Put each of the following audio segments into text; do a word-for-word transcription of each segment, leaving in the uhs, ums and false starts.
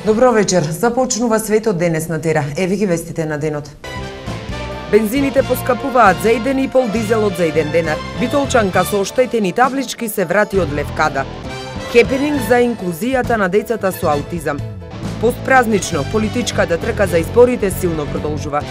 Добро вечер. Започнува светот денес на Тера. Еве ги вестите на денот. Бензините поскапуваат за еден и пол, дизелот за еден денар. Битолчанка со оштетени таблички се врати од Левкада. Хепенинг за инклузијата на децата со аутизам. Постпразнично, политичката трка за изборите силно продолжува.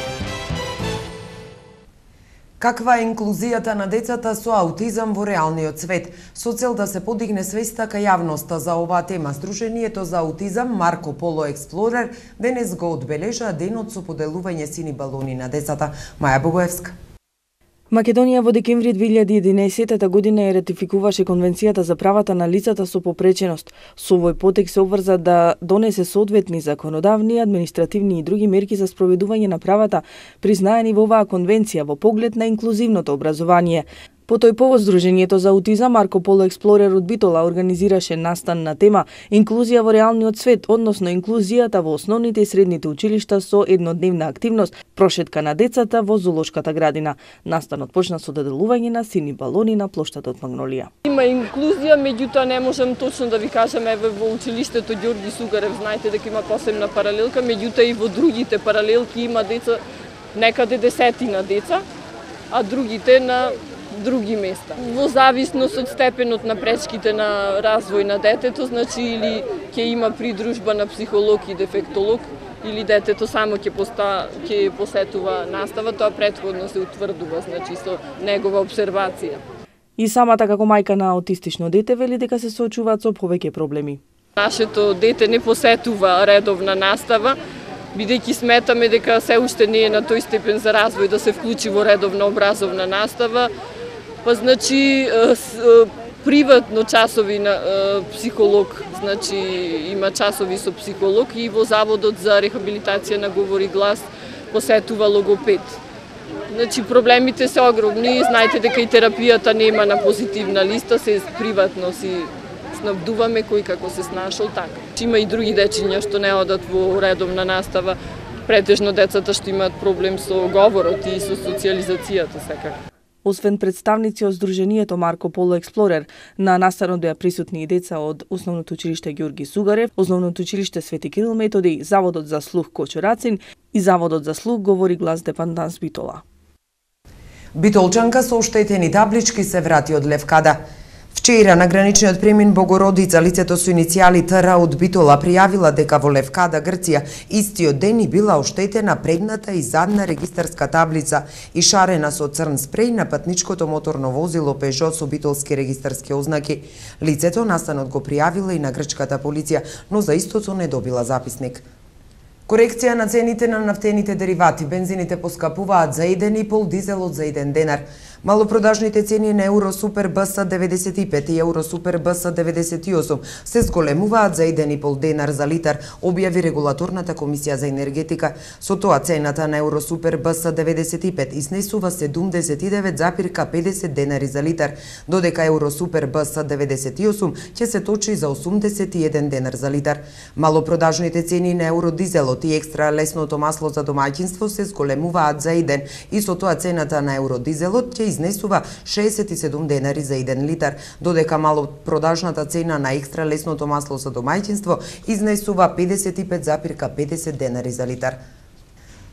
Каква е инклузијата на децата со аутизам во реалниот свет? Со цел да се подигне свеста кај јавноста за оваа тема, Сдруженијето за аутизам Марко Поло Експлорер денес го одбележа денот со поделување сини балони на децата. Маја Богоевска. Македонија во декември две илјади и единаесетта година ја ратификуваше Конвенцијата за правата на лицата со попреченост. Со овој потек се обврза да донесе соодветни законодавни, административни и други мерки за спроведување на правата признаени во оваа конвенција во поглед на инклузивното образование. По тој повод Сдруженијето за аутизам Марко Поло Експлорер од Битола организираше настан на тема Инклузија во реалниот свет, односно инклузијата во основните и средните училишта со еднодневна активност, прошетка на децата во зоолошката градина. Настанот почна со доделување на сини балони на плоштадот Магнолија. Има инклузија, меѓутоа не можам точно да ви кажам, еве во училиштето Ѓорги Сугарев, знаете дека има посебна паралелка, меѓутоа и во другите паралелки има деца, некаде десетина деца, а другите на други места. Во зависност од степенот на пречките на развој на детето, значи или ќе има придружба на психолог и дефектолог, или детето само ќе поста ќе посетува настава, тоа претходно се утврдува, значи со негова обсервација. И самата како мајка на аутистично дете вели дека се соочуваат со повеќе проблеми. Нашето дете не посетува редовна настава, бидејќи сметаме дека се уште не е на тој степен за развој да се вклучи во редовна образовна настава. Па значи приватно часови на психолог, значи има часови со психолог и во Заводот за рехабилитација на говор и глас посетува логопед. Значи проблемите се огромни, знаете дека и терапијата нема на позитивна листа, се приватно си снабдуваме кој како се снашол така. Има и други дечиња што не одат во редовна настава, претежно децата што имаат проблем со говорот и со социјализацијата секако. Освен представници од Сдруженијето Марко Поло Експлорер, на настанот беа присутни и деца од Основното училиште Ѓорги Сугарев, Основното училиште Свети Кирил Методи, Заводот за слух Кочурацин и Заводот за слух Говор и глас Депанданс Битола. Битолчанка со оштетени таблички се врати од Левкада. Вчера на граничниот премин Богородица лицето со иницијали Т Р од Битола пријавила дека во Левкада, Грција, истиот ден и била оштетена предната и задна регистарска таблица и шарена со црн спреј на патничкото моторно возило Пежо со битолски регистарски ознаки. Лицето настанот го пријавила и на грчката полиција, но за истото не добила записник. Корекција на цените на нафтените деривати, бензините поскапуваат за еден и пол, дизелот за еден денар. Малопродажните цени на Евро Супер Б С деветдесет и пет и Евро Супер Б С деветдесет и осум се зголемуваат за еден и пол денар за литар, објави регулаторната комисија за енергетика. Со тоа цената на Евро Супер Б С деветдесет и пет изнесува седумдесет и девет запирка педесет денари за литар, додека Евро Супер Б С деветдесет и осум ќе се точи за осумдесет и еден денар за литар. Малопродажните цени на Евро Дизелот и екстра лесното масло за домаќинство се зголемуваат за еден и со тоа цената на Евро Дизелот ќе изнесува шеесет и седум денари за еден литар, додека малопродажната цена на екстра лесното масло за домаќинство изнесува педесет и пет запирка педесет денари за литар.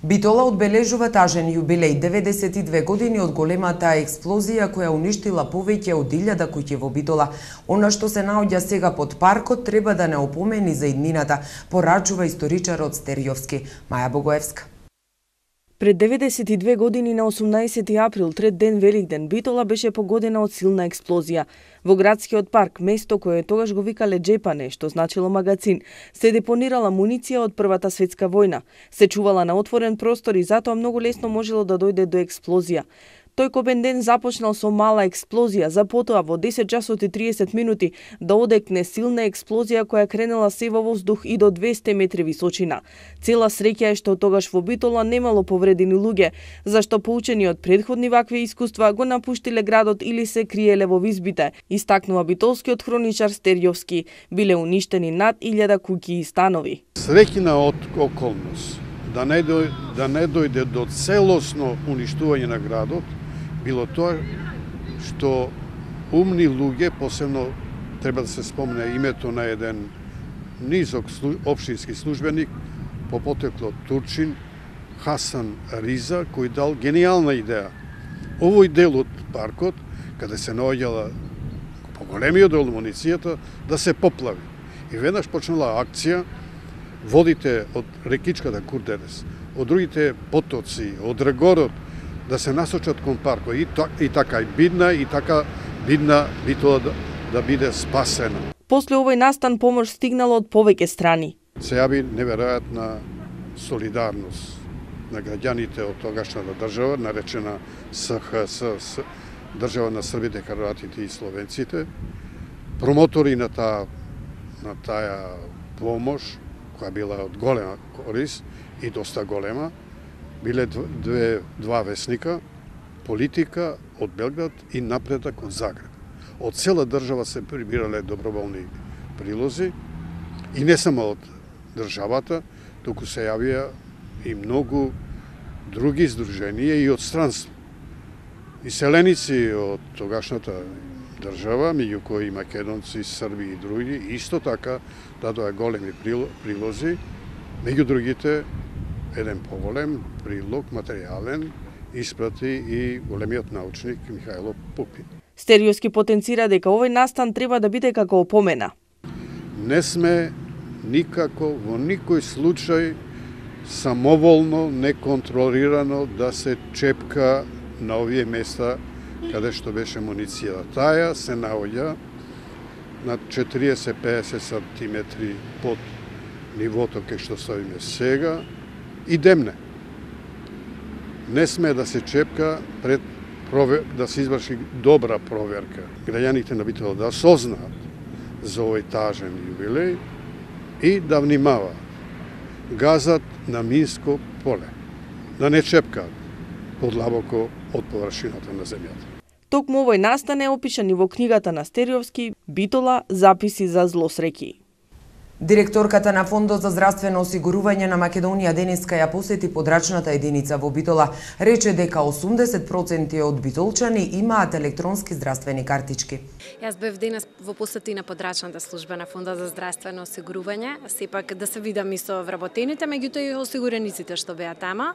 Битола одбележува тажен јубилеј, деветдесет и две години од големата експлозија која уништила повеќе од илјада куќи во Битола. Она што се наоѓа сега под паркот треба да не опомени за иднината, порачува историчарот Стерјовски. Маја Богоевска. Пред деветдесет и две години на осумнаесети април, трет ден Великден, Битола беше погодена од силна експлозија. Во градскиот парк, место кое тогаш го викале Джепане, што значило магазин, се депонирала муниција од Првата светска војна. Се чувала на отворен простор и затоа многу лесно можело да дојде до експлозија. Тој кобен ден започнал со мала експлозија, за потоа во десет часот и триесет минути да одекне силна експлозија која кренела се во воздух и до двесте метри височина. Цела среќа е што тогаш во Битола немало повредени луѓе, зашто поучени од предходни вакви искуства го напуштиле градот или се криеле во визбите, истакнува битолскиот хроничар Стерјовски. Биле уништени над илјада куќи и станови. Среќна од околност да не дојде, да не дојде до целосно уништување на градот, било тоа што умни луѓе, посебно треба да се спомне името на еден низок општински службеник по потекло Турчин Хасан Риза, кој дал гениална идеја. Овој дел од паркот, каде се наоѓала поголемиот дел муницијата, да се поплави. И веднаш почнала акција, водите од рекичката Курдерес, од другите потоци, од Регород, да се насочат кон паркот. И, и така и бидна, и така бидна Битола да, да биде спасена. После овој настан помош стигнала од повеќе страни. Се јави неверојатна солидарност на граѓаните од тогашната држава, наречена С Х С, држава на србите, хрватите и словенците. Промотори на таа на таа помош, која била од голема корист и доста голема, биле две, два весника, Политика од Белград и Напредок од Загреб. Од цела држава се прибирале доброволни прилози и не само од државата, туку се јавија и многу други издруженија и од странство. Иселеници од тогашната држава, меѓу кои македонци, срби и други, исто така дадоа големи прилози, меѓу другите еден поголем прилог, материјален, испрати и големиот научник Михајло Пупин. Стериовски потенцира дека овој настан треба да биде како опомена. Не сме никако во никој случај самоволно, неконтролирано да се чепка на овие места каде што беше муницијата. Таја се наоѓа на четириесет до пеесет сантиметри под нивото кај што стоиме сега и демне. Не сме да се чепка пред провер... да се изврши добра проверка. Граѓаните на Битола да осознаат за овој тажен јубилеј и да внимаваат. Газат на минско поле. Да не чепкаат подлабоко од површината на земјата. Токму овој настан е опишан и во книгата на Стериовски Битола записи за злосреќи. Директорката на Фондот за здравствено осигурување на Македонија денеска ја посети подрачната единица во Битола. Рече дека осумдесет проценти од битолчани имаат електронски здравствени картички. Јас бев денес во посети на подрачната служба на Фондот за здравствено осигурување, сепак да се видам и со вработените, меѓутоа и осигурениците што беа тама.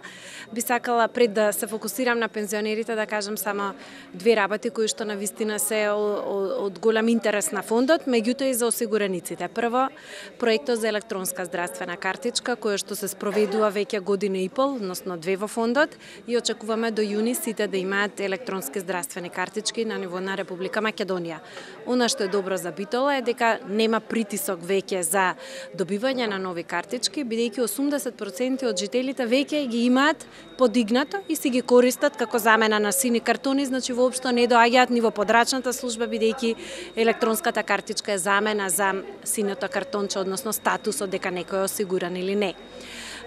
Би сакала пред да се фокусирам на пензионерите да кажам само две работи кои што навистина се од голем интерес на фондот, меѓутоа и за осигурениците. Прво, проектот за електронска здравствена картичка, која што се спроведува веќе година и пол, односно две во фондот, и очекуваме до јуни сите да имаат електронски здравствени картички на ниво на Република Македонија. Она што е добро за Битола е дека нема притисок веќе за добивање на нови картички, бидејќи осумдесет проценти од жителите веќе ги имаат подигнато и си ги користат како замена на сини картони, значи воопшто не доаѓаат ни во подрачната служба, бидејќи електронската картичка е замена за синото картонче, односно статусот дека некој е осигуран или не.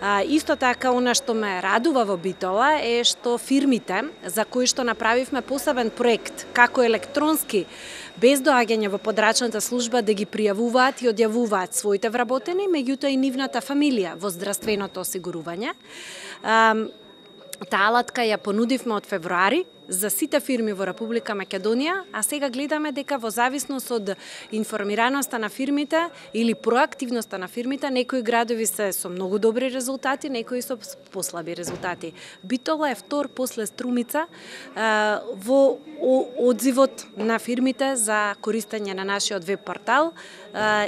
А, исто така, она што ме радува во Битола е што фирмите за кои што направивме посебен проект како електронски, без доаѓање во подрачната служба да ги пријавуваат и одјавуваат своите вработени, меѓутоа и нивната фамилија во здравственото осигурување. А, таа алатка ја понудивме од февруари за сите фирми во Република Македонија, а сега гледаме дека во зависност од информираноста на фирмите или проактивноста на фирмите, некои градови се со многу добри резултати, некои со послаби резултати. Битола е втор после Струмица во одзивот на фирмите за користење на нашиот веб портал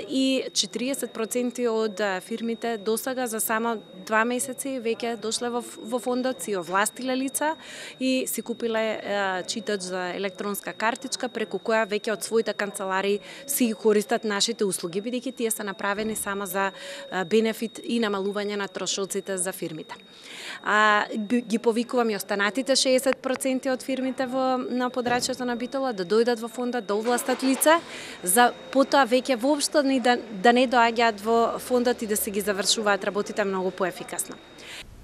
и четириесет проценти од фирмите досега за само два месеци веќе дошле во, во фондот, си овластиле лица и си купиле читач за електронска картичка, преку која веќе од своите канцелари си ги користат нашите услуги, бидејќи тие се направени само за бенефит и намалување на трошоците за фирмите. А, ги повикувам и останатите шеесет проценти од фирмите во на подрачјето на Битола да дојдат во фондот, да овластат лице, за потоа веќе воопшто ни да, да не доаѓаат во фондот и да се ги завршуваат работите многу поефикасно.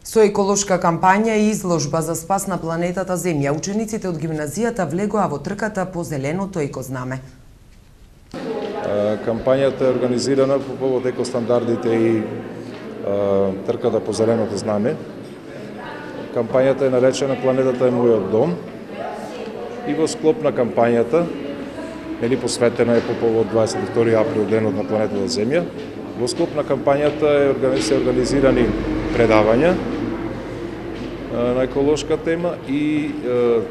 Со еколошка кампања и изложба за спас на планетата Земја, учениците од гимназијата влегоа во трката по зеленото екознаме. Кампањата е организирана по повод екостандардите и трката по зеленото знаме. Кампањата е наречена "Планетата е мојот дом" и во склоп на кампањата, нели посветена е по повод дваесет и втори април, денот на планетата Земја, Во склоп на кампањата е се организирани предавања на еколошка тема и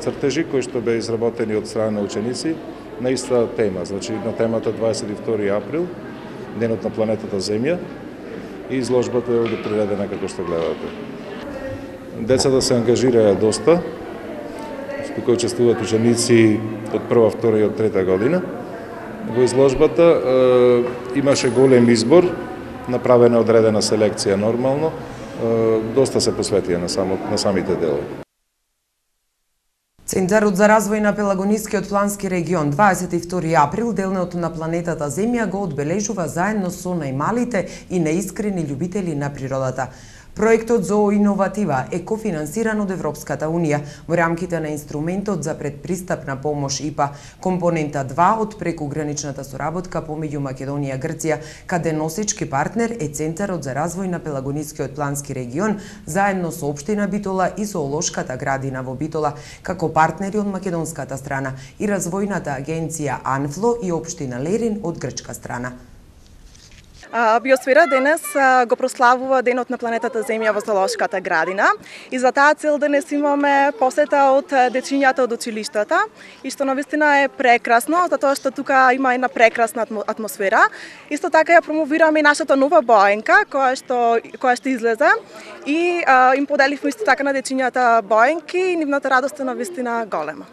цртежи кои што беа изработени од страна на ученици на иста тема, значи на темата дваесет и втори април, денот на планетата Земја, и изложбата е овде приведена како што гледате. Децата се ангажираа доста, кои учествуваат ученици од прва, втора и од трета година. Во изложбата е, имаше голем избор, направена одредена селекција нормално, е, доста се посветија на, само, на самите делови. Центарот за развој на Пелагонискиот плански регион дваесет и втори април, денот на планетата Земја, го одбележува заедно со најмалите и наискрени љубители на природата. Проектот зооиноватива е кофинансиран од Европската Унија во рамките на инструментот за предпристапна помош И П А, компонента два од прекуграничната соработка помеѓу Македонија и Грција, каде носечки партнер е Центарот за развој на Пелагонискиот плански регион, заедно со општина Битола и зоолошката градина во Битола, како партнери од македонската страна и развојната агенција АНФЛО и општина Лерин од грчка страна. Биосфера денес го прославува денот на планетата Земја во зоолошката градина и за таа цел денес имаме посета од дечињата од училиштата и што навистина е прекрасно, затоа што тука има една прекрасна атмосфера. Исто така ја промовираме и нашата нова боенка која што која што излезе и а, им поделивме исто така на дечињата боенки и нивната радост е навистина голема.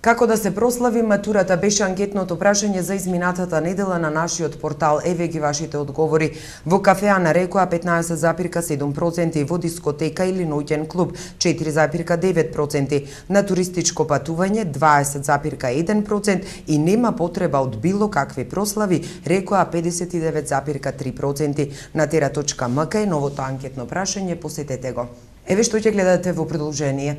Како да се прослави матурата беше анкетното прашање за изминатата недела на нашиот портал. Еве ги вашите одговори. Во кафеа на Рекоа петнаесет зарем седум проценти, во дискотека или ноќен клуб четири зарем девет проценти, на туристичко патување дваесет зарем еден проценти и нема потреба од било какви прослави Рекоа педесет и девет зарем три проценти. На тера точка ем ка е новото анкетно прашање, посетете го. Еве што ќе гледате во продолжение.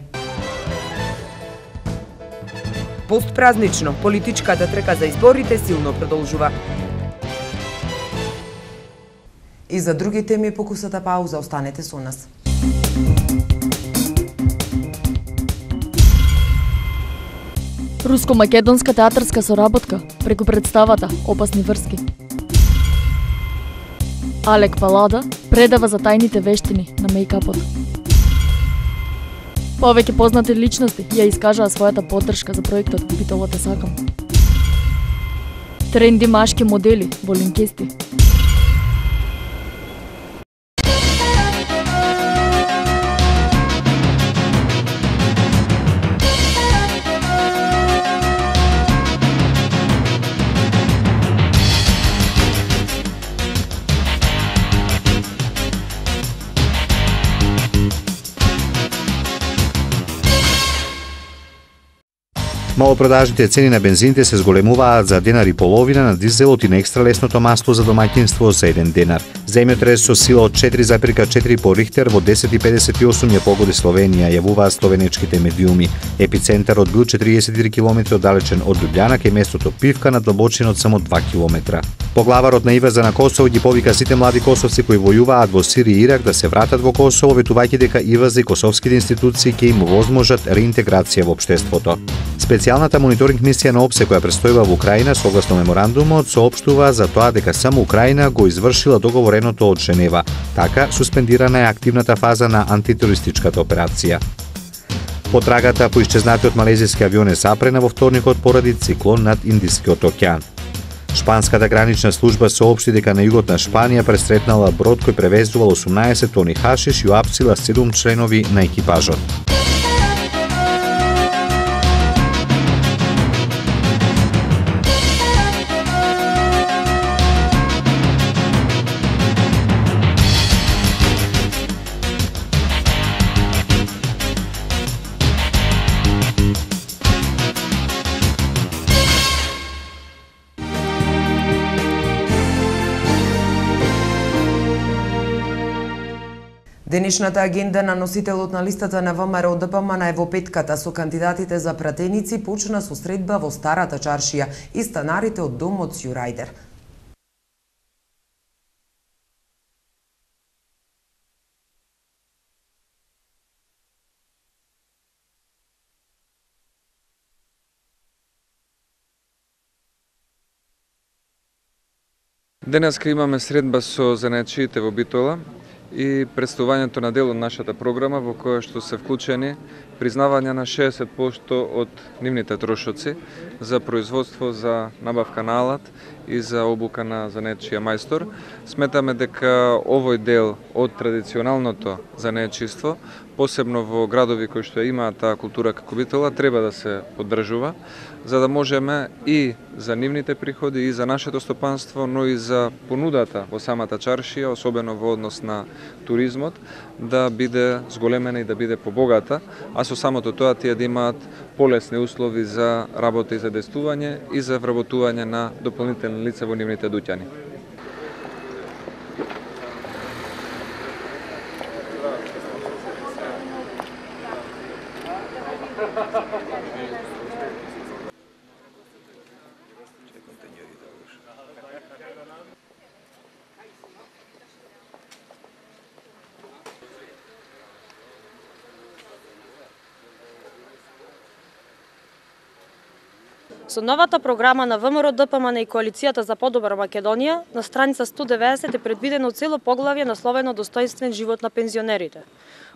Постпразнично, политичката трка за изборите силно продолжува. И за други теми покусата пауза, останете со нас. Руско-македонска театарска соработка преку представата Опасни врски. Алек Палада предава за тајните вештини на мејкапот. Повеќе познати личности ја искажаа својата поддршка за проектот Битола те сакам. Тренди машки модели во линкести. Малопродажните цени на бензините се зголемуваат за денар и половина на дизелот и на екстра лесното масло за домаќинство за еден денар. Земјотрес со сила од четири зарем четири по Рихтер во десет и педесет и осум ја погоди Словенија, јавуваат словенечките медиуми. Епицентарот бил четириесет и три километри оддалечен од Лјубљана кај местото Пивка на длабочина од само два километра. Поглаварот на ИВА за на Косово ги повика сите млади косовци кои војуваат во Сирија и Ирак да се вратат во Косово, ветувајќи дека ИВА за и косовските институции ќе им возможат реинтеграција во општеството. Специјалната мониторинг мисија на ОПСЕ која престојува во Украина, согласно меморандумот, соопштува за тоа дека само Украина го извршила договореното од Женева. Така, суспендирана е активната фаза на антитерористичката операција. Потрагата по исчезнатиот малезиски авион е запрена во вторникот поради циклон над Индискиот океан. Шпанската гранична служба соопшти дека на југот на Шпанија пресретнала брод кој превезувал осумнаесет тони хашиш и уапсила седум членови на екипажот. Денешната агенда на носителот на листата на ВМРО Д П М на Ево петката со кандидатите за пратеници почна со средба во Старата чаршија и станарите од домот Сјурајдер. Денеска имаме средба со занаетчиите во Битола и представувањето на дел од нашата програма во која што се вклучени признавање на шеесет проценти од нивните трошоци за производство, за набавка на алат и за обука на занаетчија мајстор. Сметаме дека овој дел од традиционалното занаетчиство, посебно во градови кои што имаат таа култура како Битола, треба да се поддржува, за да можеме и за нивните приходи, и за нашето стопанство, но и за понудата во самата чаршија, особено во однос на туризмот, да биде зголемена и да биде побогата, а со самото тоа тие да имаат полесни услови за работа и за действување и за вработување на дополнителни лица во нивните дуќани. Со новата програма на ВМРО Д П М Н и Коалицијата за подобра Македонија, на страница сто деветдесет е предвидено цело поглавје насловено Достоинствен живот на пензионерите.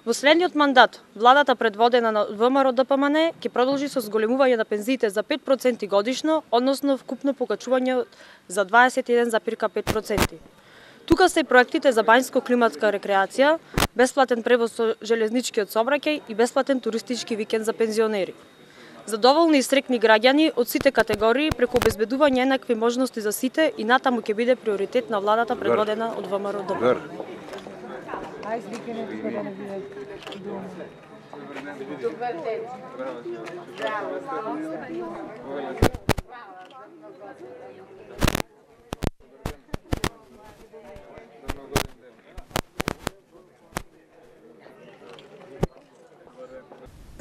Во следниот мандат, владата предводена на ВМРО Д П М Н ќе продолжи со зголемување на пензиите за пет проценти годишно, односно вкупно покачување за дваесет и еден зарез пет проценти. Тука се и проектите за бањско-климатска рекреација, бесплатен превоз со железничкиот сообраќај и бесплатен туристички викенд за пензионери. Задоволни и срекни граѓани од сите категории преку обезбедување еднакви можности за сите и натаму ќе биде приоритет на владата предводена од ВМРО Д П М Н.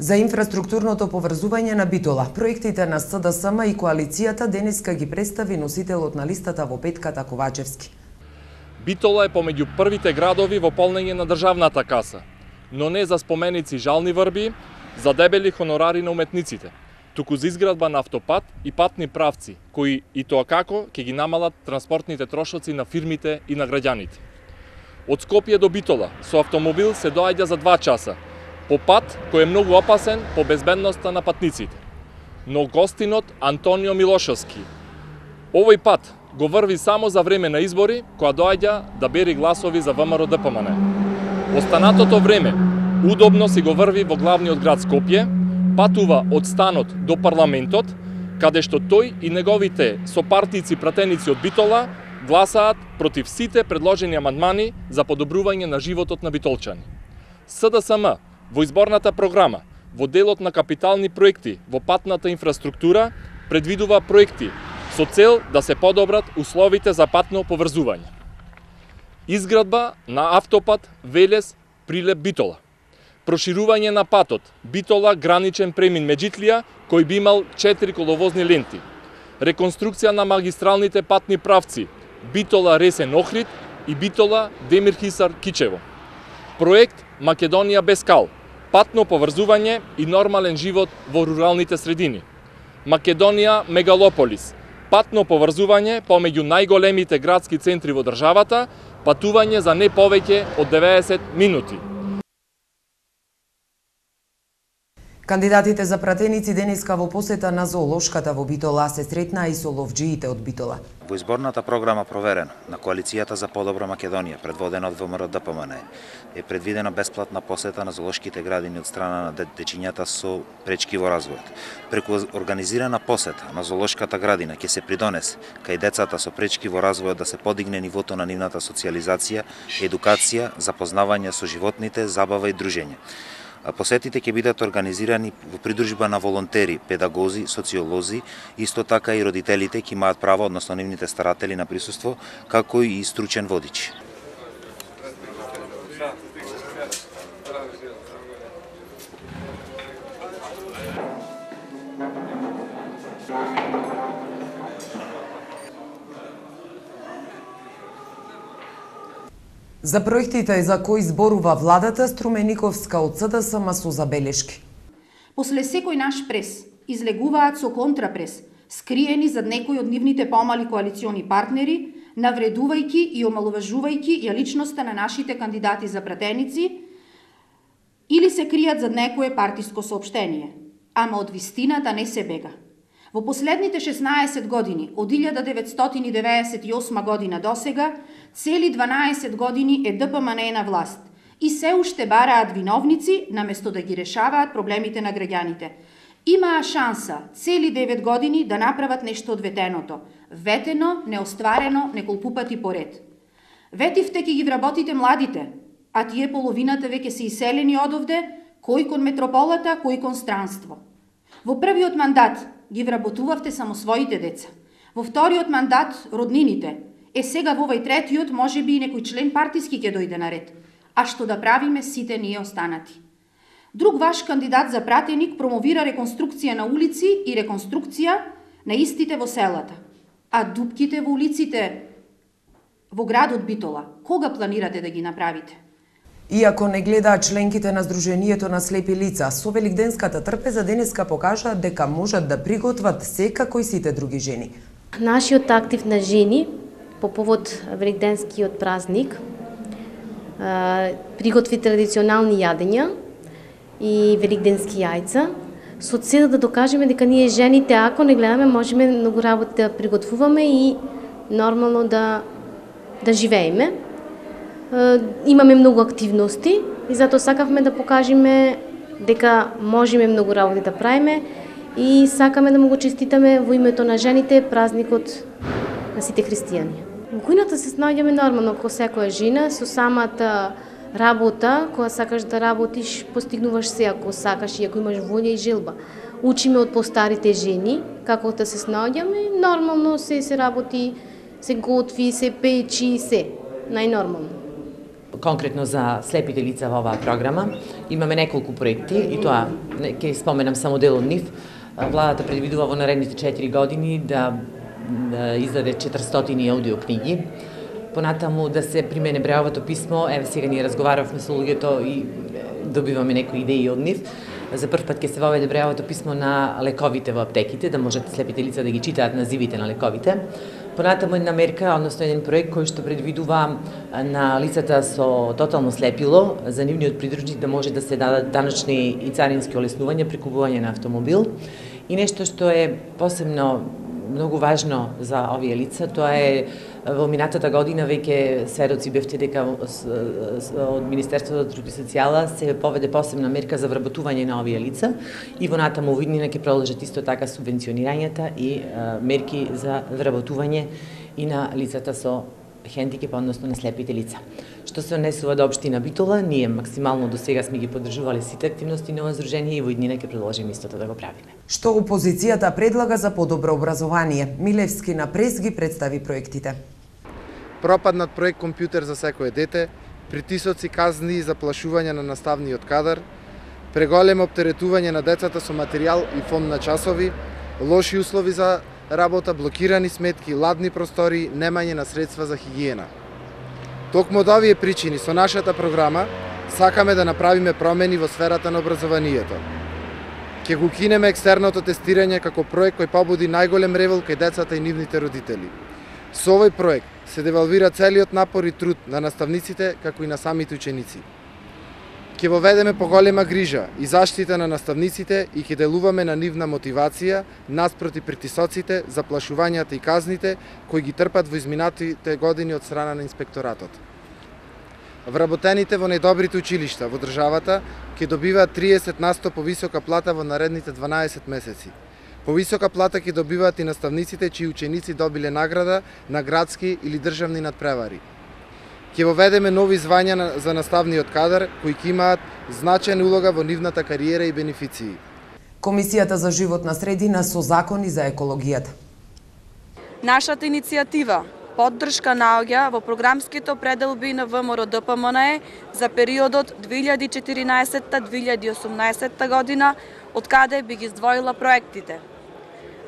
За инфраструктурното поврзување на Битола, проектите на С Д С М и коалицијата денеска ги представи носителот на листата во петката Ковачевски. Битола е помеѓу првите градови во полнење на државната каса, но не за споменици жални врби, за дебели хонорари на уметниците, туку за изградба на автопат и патни правци, кои и тоа како ќе ги намалат транспортните трошоци на фирмите и на граѓаните. Од Скопје до Битола со автомобил се доаѓа за два часа, по пат кој е многу опасен по безбедноста на патниците. Но гостинот Антонио Милошовски, овој пат го врви само за време на избори, која доаѓа да бери гласови за ВМРО Д П М Н. Останатото време удобно си го врви во главниот град Скопје, патува од станот до парламентот, каде што тој и неговите сопартици пратеници од Битола гласаат против сите предложени амандмани за подобрување на животот на битолчани. С Д С М во изборната програма, во делот на капитални проекти во патната инфраструктура, предвидува проекти со цел да се подобрат условите за патно поврзување. Изградба на автопат Велес Прилеп Битола. Проширување на патот Битола граничен премин Меджитлија, кој би имал четири коловозни ленти. Реконструкција на магистралните патни правци Битола Ресен Охрид и Битола Демир Хисар Кичево. Проект Македонија без кал. Патно поврзување и нормален живот во руралните средини. Македонија Мегалополис. Патно поврзување помеѓу најголемите градски центри во државата, патување за не повеќе од деветдесет минути. Кандидатите за пратеници денеска во посета на зоолошката во Битола се сретнаа и со ловџиите од Битола. Во изборната програма проверена на Коалицијата за подобра Македонија, предводена од ВМРО Д П М Н, е предвидена бесплатна посета на зоолошките градини од страна на дечињата со пречки во развојот. Преку организирана посета на зоолошката градина ќе се придонесе кај децата со пречки во развојот да се подигне нивото на нивната социјализација, едукација, запознавање со животните, забава и дружење. Посетите ќе бидат организирани во придружба на волонтери, педагози, социолози, исто така и родителите ќе имаат право, односно нивните старатели на присуство, како и стручен водич. За проектите за кои зборува владата, Струмениковска од С Д С М со забелешки. После секој наш прес, излегуваат со контрапрес, скриени зад некои од нивните помали коалициони партнери, навредувајќи и омалуважувајќи ја личноста на нашите кандидати за пратеници, или се кријат зад некое партиско соопштение. Ама од вистината не се бега. Во последните шеснаесет години, од илјада деветстотини деветдесет и осма година до сега, цели дванаесет години е Д П М Н е на власт и се уште бараат виновници, наместо да ги решаваат проблемите на граѓаните. Имаа шанса цели девет години да направат нешто од ветеното. Ветено, неостварено, неколку пати поред. Ветивте ќе ги вработите младите, а тие половината веќе се иселени одовде, кој кон метрополата, кој кон странство. Во првиот мандат ги вработувавте само своите деца. Во вториот мандат роднините. Е сега во овој третиот може би и некој член партиски ќе дојде на ред. А што да правиме сите ние останати? Друг ваш кандидат за пратеник промовира реконструкција на улици и реконструкција на истите во селата. А дупките во улиците во градот Битола, кога планирате да ги направите? Иако не гледаат членките на Сдруженијето на слепи лица, со великденската трпеза денеска покажа дека можат да приготват секако и сите други жени. Нашиот актив на жени по повод великденскиот празник приготви традиционални јадења и великденски јајца, со цел да докажеме дека ние жените, ако не гледаме, можеме многу работа да приготвуваме и нормално да, да живееме. Имаме многу активности и затоа сакавме да покажеме дека можеме многу работи да правиме и сакаме да му го честитаме во името на жените празникот на сите христијани. Во кујната се снаоѓаме нормално како секоја жена, со самата работа, кога сакаш да работиш, постигнуваш се ако сакаш и ако имаш волја и желба. Учиме од постарите жени како да се снаоѓаме, нормално се се работи, се готви, се печи, се најнормално. Конкретно за слепите лица во оваа програма имаме неколку проекти и тоа ќе споменам само дел од нив. Владата предвидува во наредните четири години да издаде четиристотини аудио книги. Понатаму да се примене бреовото писмо, еве сега ние разговаравме со луѓето и добиваме некои идеи од нив. За прв пат ќе се воведе бреовото писмо на лековите во аптеките, да можат слепите лица да ги читаат називите на лековите. Понатаму една мерка, односно еден проект кој што предвидува на лицата со тотално слепило, за нивниот придружник да може да се дадат даночни и царински олеснувања при купување на автомобил. И нешто што е посебно многу важно за овие лица, тоа е во минатата година веќе сведоци бевте дека од Министерството за труд и социјала се поведе посебна мерка за вработување на овие лица и во натаму виднина ќе продолжат исто така субвенционирањата и мерки за вработување и на лицата со хендикеп, односно на слепите лица. Што се однесува до општина Битола, ние максимално до сега сме ги поддржувале сите активности на здружение и во иднина ќе продолжиме истото да го правиме. Што опозицијата предлага за подобро образование? Милевски на прес ги представи проектите. Пропаднат проект компјутер за секое дете, притисоци, казни и заплашување на наставниот кадар, преголемо оптеретување на децата со материјал и фонд на часови, лоши услови за работа, блокирани сметки, ладни простори, немање на средства за хигиена. Токму од овие причини со нашата програма сакаме да направиме промени во сферата на образованието. Ќе го кинеме екстерното тестирање како проект кој побуди најголем револ кај децата и нивните родители. Со овој проект се девалвира целиот напор и труд на наставниците како и на самите ученици. Ќе воведеме поголема грижа и заштита на наставниците и ќе делуваме на нивна мотивација наспроти притисоците, заплашувањата и казните кои ги трпат во изминатите години од страна на инспекторатот. Вработените во најдобрите училишта во државата ќе добиваат триесет на сто повисока плата во наредните дванаесет месеци. Повисока плата ќе добиваат и наставниците чии ученици добиле награда на градски или државни надпревари. Ќе воведеме нови звања за наставниот кадар кои ќе имаат значајна улога во нивната кариера и бенефиции. Комисијата за животна средина со закони за екологијата. Нашата иницијатива поддршка наоѓа во програмските пределби на В М Р Д П М Н е за периодот две илјади и четиринаесетта - две илјади и осумнаесетта година, од каде би ги издвоила проектите.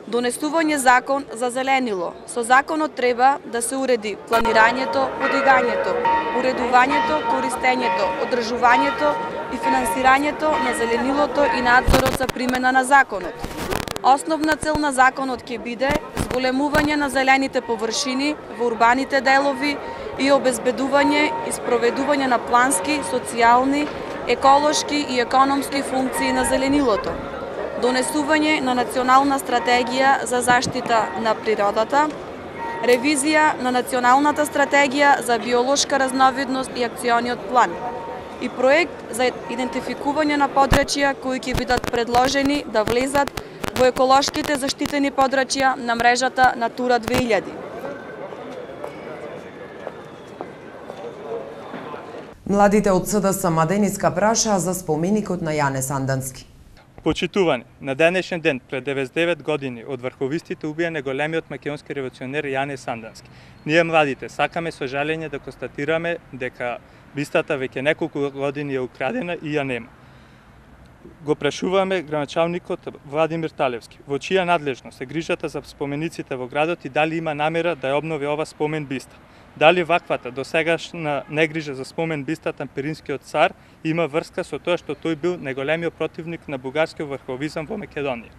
Донесување закон за зеленило. Со законот треба да се уреди планирањето, подигањето, уредувањето, користењето, одржувањето и финансирањето на зеленилото и надзорот за примена на законот. Основна цел на законот ќе биде зголемување на зелените површини во урбаните делови и обезбедување и спроведување на плански, социјални, еколошки и економски функции на зеленилото, донесување на национална стратегија за заштита на природата, ревизија на националната стратегија за биолошка разновидност и акциониот план и проект за идентификување на подрачја кои ќе бидат предложени да влезат во еколошките заштитени подрачја на мрежата Натура две илјади. Младите од СДС Мадениска прашаа за споменикот на Јане Сандански. Почитувани, на денешен ден пред деветдесет и девет години од врховистите убиен големиот македонски револуционер Јане Сандански. Ние младите сакаме со жалење да констатираме дека бистата веќе неколку години е украдена и ја нема. Го прашуваме градоначалникот Владимир Талевски, во чија надлежност е грижата за спомениците во градот и дали има намера да ја обнови ова спомен биста. Дали ваквата досегашна негрижа за спомен бистата на Пиринскиот цар има врска со тоа што тој бил најголемиот противник на бугарскиот врховизам во Македонија?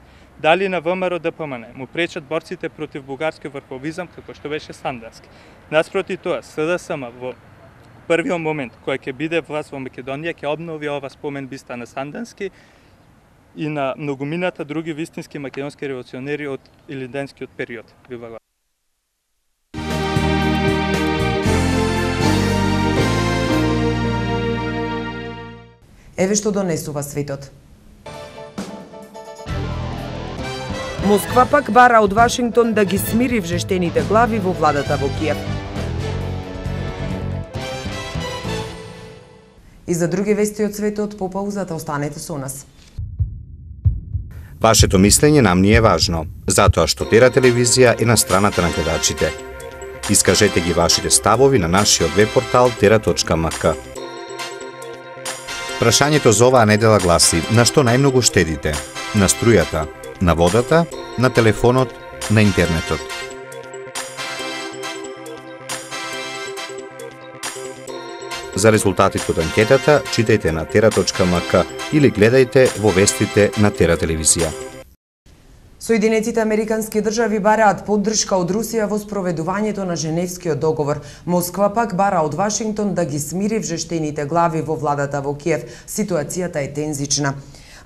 Дали на ВМРО Д П М Н му пречат борците против бугарскиот врховизам како што беше Сандански? Наспроти тоа, СДСМ во првиот момент кој ќе биде власт во Македонија ќе обнови ова спомен биста на Сандански и на многумината други вистински македонски револуционери од илинденскиот период. Ви благодарам. Еве што донесува светот. Москва пак бара од Вашингтон да ги смири вжештените глави во владата во Киев. И за други вести од светот по паузата останете со нас. Вашето мислење нам ни е важно, затоа што Тера телевизија е на страната на гледачите. Искажете ги вашите ставови на нашиот веб-портал тера точка ем ка. Прашањето за оваа недела гласи: на што најмногу штедите? На струјата, на водата, на телефонот, на интернетот? За резултатите од анкетата читајте на тера точка ем ка или гледајте во вестите на Тера телевизија. Соединетите американски држави бараат поддршка од Русија во спроведувањето на Женевскиот договор. Москва пак бара од Вашингтон да ги смири вжештените глави во владата во Киев. Ситуацијата е тензична.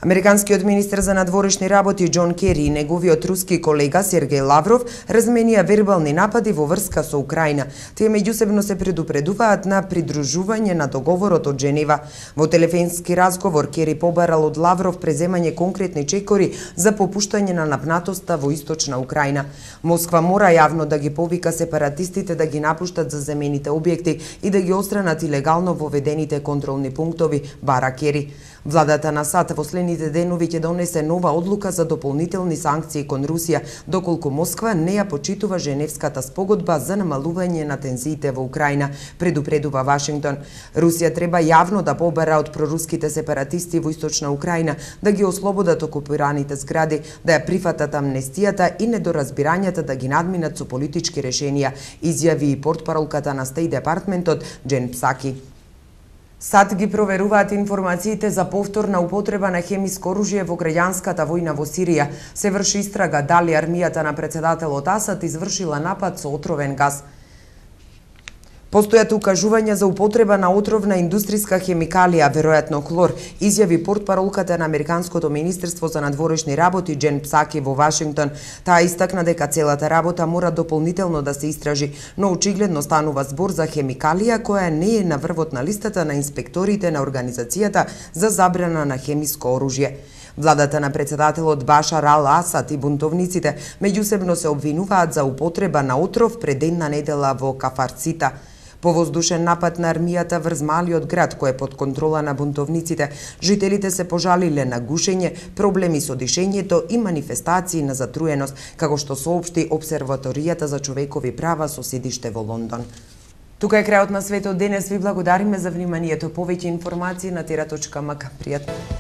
Американскиот министер за надворешни работи Џон Кери и неговиот руски колега Сергеј Лавров разменија вербални напади во врска со Украина. Тие меѓусебно се предупредуваат на придружување на договорот од Женева. Во телефонски разговор Кери побарал од Лавров преземање конкретни чекори за попуштање на напнатоста во источна Украина. Москва мора јавно да ги повика сепаратистите да ги напуштат заземените објекти и да ги отстранат илегално воведените контролни пунктови, бара Кери. Владата на САД во следните денови ќе донесе нова одлука за дополнителни санкции кон Русија, доколку Москва не ја почитува Женевската спогодба за намалување на тензиите во Украина, предупредува Вашингтон. Русија треба јавно да побара од проруските сепаратисти во источна Украина да ги ослободат окупираните згради, да ја прифатат амнестијата и недоразбирањата да ги надминат со политички решенија, изјави и портпаролката на Стејт Департментот Џен Псаки. САД ги проверуваат информациите за повторна употреба на хемиско оружје во граѓанската војна во Сирија. Се врши истрага дали армијата на председателот Асад извршила напад со отровен газ. Постојат укажувања за употреба на отровна индустријска хемикалија, веројатно хлор, изјави портпаролката на Американското министерство за надворешни работи Џен Псаки во Вашингтон. Таа истакна дека целата работа мора дополнително да се истражи, но очигледно станува збор за хемикалија која не е на врвот на листата на инспекторите на Организацијата за забрана на хемиско оружје. Владата на председателот Башар ал Асад и бунтовниците меѓусебно се обвинуваат за употреба на отров пред една недела во Кафарцита. По воздушен напад на армијата врз малиот град кој е под контрола на бунтовниците, жителите се пожалиле на гушење, проблеми со дишењето и манифестации на затруеност, како што соопшти Обсерваторијата за човекови права со седиште во Лондон. Тука е крајот на светот денес. Ви благодариме за вниманието. Повеќе информации на тера точка ем ка. Пријатно.